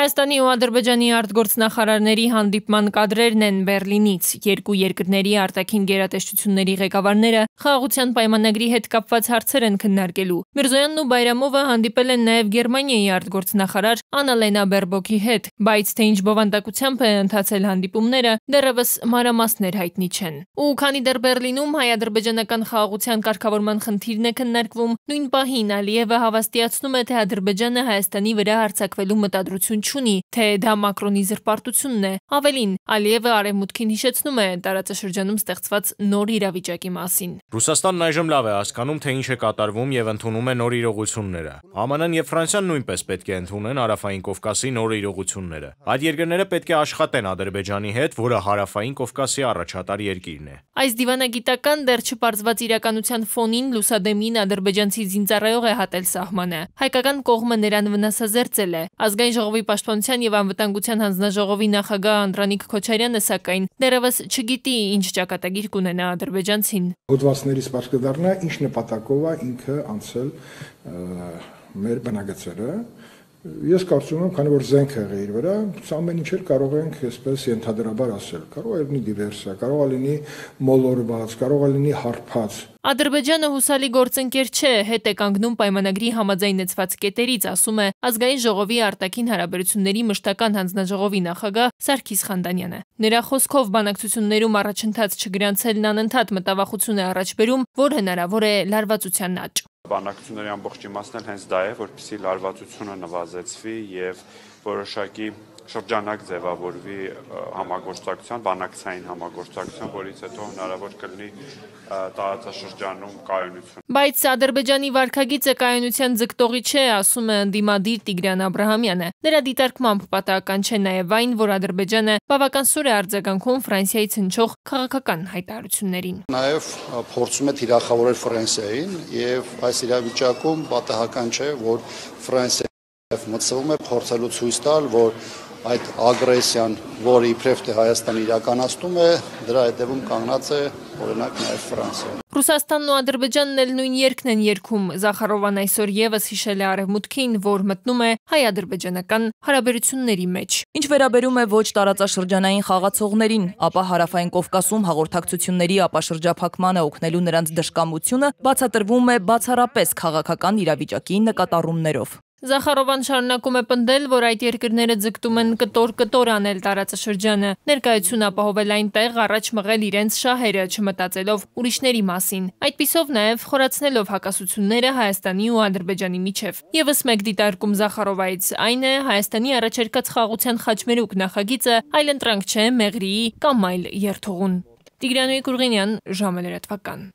Հայաստանի ու Ադրբեջանի արտգործնախարարների հանդիպման կադրերն են Բեռլինից։ Երկու երկրների արտաքին գերատեսչությունների ղեկավարները խաղաղության պայմանագրի հետ կապված հարցեր են քննարկելու։ Միրզոյանն ու Բայրամովը հանդիպել են նաև Գերմանիայի արտգործնախարար Աննալենա Բերբոքի հետ, բայց թե ինչ բովանդակությամբ է ընթացել հանդիպումները, դեռևս մանրամասներ հայտնի չեն։ Ու քանի դեռ Բեռլինում հայ-ադրբեջանական խաղաղության կարգավորման խնդիրն է քննարկվում, նույն պահին Ալիևը հավաստիացնում է, թե Ադրբեջանը Հայաստանի վրա հարձակվելու մտադրություն չունի, թե դա Մակրոնի զրպարտությունն է։ Ավելին, Ալիևը արևմուտքին հիշեցնում է տարածաշրջանում ստեղծված նոր իրավիճակի մասին։ Ռուսաստանն այժմ լավ է հասկանում, թե ինչ է կատարվում եւ ընդունում է նոր իրողությունները։ ԱՄՆ-ն եւ Ֆրանսիան նույնպես պետք է ընդունեն Հարավային Կովկասի նոր իրողությունները։ Այդ երկրները պետք է աշխատեն Ադրբեջանի հետ, որը Հարավային Կովկասի առաջատար երկիրն է։ Այս դիվանագիտական դեռ չպարզված իրականության ֆոնին լուսադեմին ադրբեջանցի զինծառայող է հատել սահմանը։ Հայկական կողմը նրան վնասազերծել է։ Ազգային ժողովի պաշտպանության եւ անվտանգության հանձնաժողովի նախագահ Անդրանիկ Քոչարյանը սակայն դեռևս չգիտի ինչ ճակատագիր կունենա ադրբեջանցին։ Հոդվածներից պարզ կդառնա ինչ նպատակով է ինքը անցել մեր բնագծերը։ Ես կարծում եմ, քանի որ զենք եղել իր վրա, ամեն ինչ կարող ենք այսպես ենթադրաբար ասել։ Կարող է լինի դիվերսիա, կարող է լինի մոլորված, կարող է լինի հարբած։ Ադրբեջանը հուսալի գործընկեր չէ, հետ է կանգնում պայմանագրի համաձայնեցված կետերից, ասում է Ազգային ժողովի արտաքին հարաբերությունների մշտական հանձնաժողովի նախագահ Սարգիս Խանդանյանը։ Նրա խոսքով բանակցություններում առաջընթաց չգրանցելն անընդհատ մտավախություն է առաջ բերում, որ հնարավոր է լարվածության աճ։ Բանակցությունների ամբողջ իմաստն էլ հենց դա է, որպեսզի լարվածությունը նվազեցվի եւ որոշակի շրջանակ ձևավորվի համագործակցության, բանակցային համագործակցության, որից հետո հնարավոր կլինի տարածաշրջանում կայունություն։ Բայց Ադրբեջանի վարքագիծը կայունության ձգտողի չէ, ասում է ընդդիմադիր Տիգրան Աբրահամյանը։ Նրա դիտարկմամբ պատահական չէ նաև այն, որ Ադրբեջանը բավական սուր է արձագանքում Ֆրանսիայից հնչող քաղաքական հայտարարություններին։ Նաև փորձում է թիրախավորել Ֆրանսիային եւ այս իրավիճակում պատահական չէ, որ Ֆրանսիան մտցվում է փորձելու ցույց տալ, որ այդ ագրեսիան, որը իբրև թե Հայաստանը իրականացնում է, դրա հետևում կանգնած է օրինակ նաև Ֆրանսիան։ Ռուսաստանն ու Ադրբեջանն էլ նույն երգն են երգում։ Զախարովան այսօր եւս հիշել է արևմուտքին, որ մտնում է հայ-ադրբեջանական հարաբերությունների մեջ։ Ինչ վերաբերում է ոչ տարածաշրջանային խաղացողներին, ապա Հարավային Կովկասում հաղորդակցությունների ապաշրջափակմանը օգնելու նրանց դժկամությունը բացատրվում է բացառապես քաղաքական իրավիճակի նկատառումներով։ Զախարովան շարունակում է պնդել, որ այդ երկրները ձգտում են կտոր անել տարածաշրջանը, ներկայություն ապահովել այնտեղ, առաջ մղել իրենց շահերը, չմտածելով ուրիշների մասին։ Այդպիսով նաև խորացնելով հակասությունները Հայաստանի ու Ադրբեջանի միջև։ Եվս մեկ դիտարկում Զախարովայից այն է Հայաստանի առաջարկած խաղաղության խաչմերուկ նախագիծը այլընտրանք չէ Մեղրիի կամ այլ երթուղուն։ Տիգրան Կուրգինյան, ժամը լրատվական։